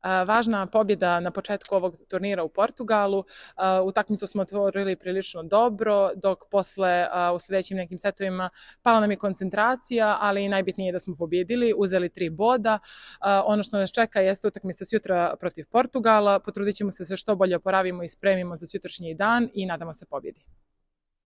Važna pobjeda na početku ovog turnira u Portugalu. Utakmicu smo otvorili prilično dobro, dok posle u sljedećim nekim setovima pala nam je koncentracija, ali najbitnije je da smo pobjedili, uzeli 3 boda. Ono što nas čeka jeste utakmica sutra protiv Portugala. Potrudit ćemo se što bolje oporavimo i spremimo za sutrašnji dan i nadamo se pobjedi.